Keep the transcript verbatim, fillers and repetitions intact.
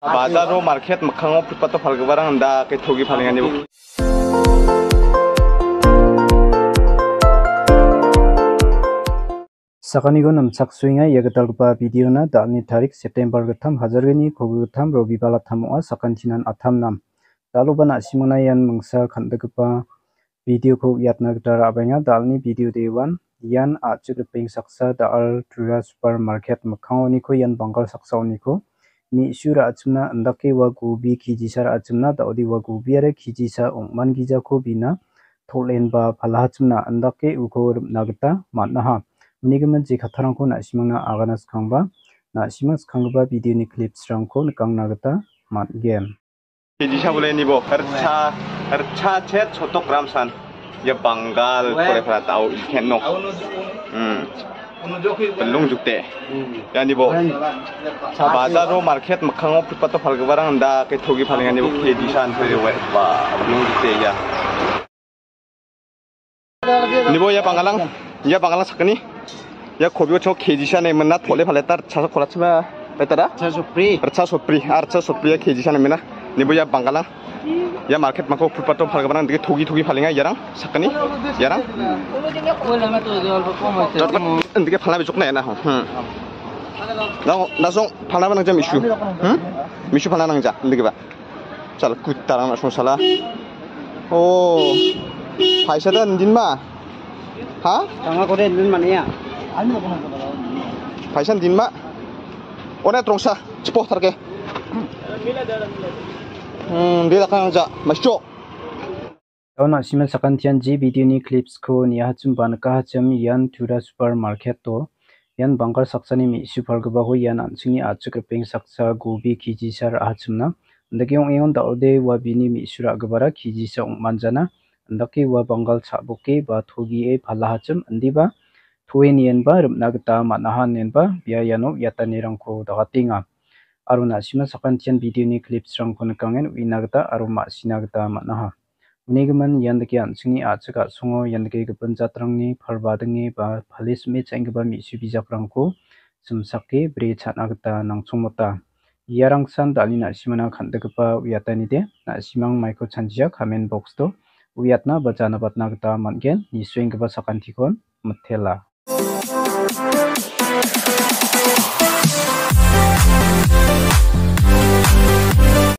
Bajaro market mikkango footpath-o palgiparang indake togi palenganibo. Sakaniko namchaksoenga ia gitalgipa videona. Da·alni tarik September gittam, hajar gni, kolgri gittam, Robibal attam ong·a, sakantinan attam nam. Da·aloba na·simangna ian mingsa kan·dikgipa videoko uiatna gita ra·baenga. Da·alni video dewan ian a·chik ripeng saksa da·al Tura Super Market mikkangoniko ian banggal saksaoniko me·su ra·achimna indake ua gobi kejisa ra·achimna da·ode ua gobiara kejisa ong·mangijako bina tol·enba palahachimna indake uko rimna gita man·aha. Unigimin je kattarangko na·simangna agana skangba, na·simang skanggipa videoni clipsrangko nikangna gita man·gen. Kejisa boleh ni bo, ritcha, ritcha chet sotok gram san. Ia banggal kore pala tau iken nok. Hmm. Belum jukte. Ya ni bo. Bajaro market mikkango footpath-o palgiparang indake togi palengani bo kejisa an pere we. Ba, belum jukte ya. Ni bo ia banggalang, ia banggalang sakgni. Ia kobiko chok kejisa ne mena tole pale tar chasa kola chima. Betada? Ritcha sopri. Ritcha sopri, ah, ritcha sopri ia kejisa ne mena. Ni bo ia banggalang. Ia market mako footpath-o palgiparang indake togi togi palenga iarang sakgni. Iarang. Indake palna bijok na ya na. Hmm. Nang, nasong palna ba nang jam isu. Hmm? Misu palna nang ja, indake ba. Sala kutarang na song sala. Oh. Paisa da ndin ma? Ha? Tanga kore ndin mania. Paisa ndin ma? One trongsa, chipo tarke. Hmm, dia dakang ja, mascho. Daun a·sima sakantian je videoni clipsko niahachim ba nikahachim ian Tura Super Market-o. Ian banggal saksani me·su palgipako ian an·chingni a·chik ripeng saksa gobi kejisa ra·achimna. Indake ong·engon da·ode ua bini me·su ra·gipara kejisa ong·manjana. Indake ua banggal cha·boke ba togie palahachim indiba toe nienba rim·na gita man·aha inenba bia iano iatanirangko dagatenga. Aro na·sima sakantian videoni clipsrangko nikangen uina gita aro ma·sina gita man·aha. Unigimin ian dake an·chingni a·chik a·songo ian dake gipin jatrangni palbadinge ba palisme cha·enggipa me·su bijakrangko simsake bri cha·na gita nangchongmota. Iarangsan da·alni na·simana kan·dikgipa uiatanide, na·simang maiko chanjia comment box-o uiatna ba janabatna gita man·gen, nisuenggipa sakantikon mitela.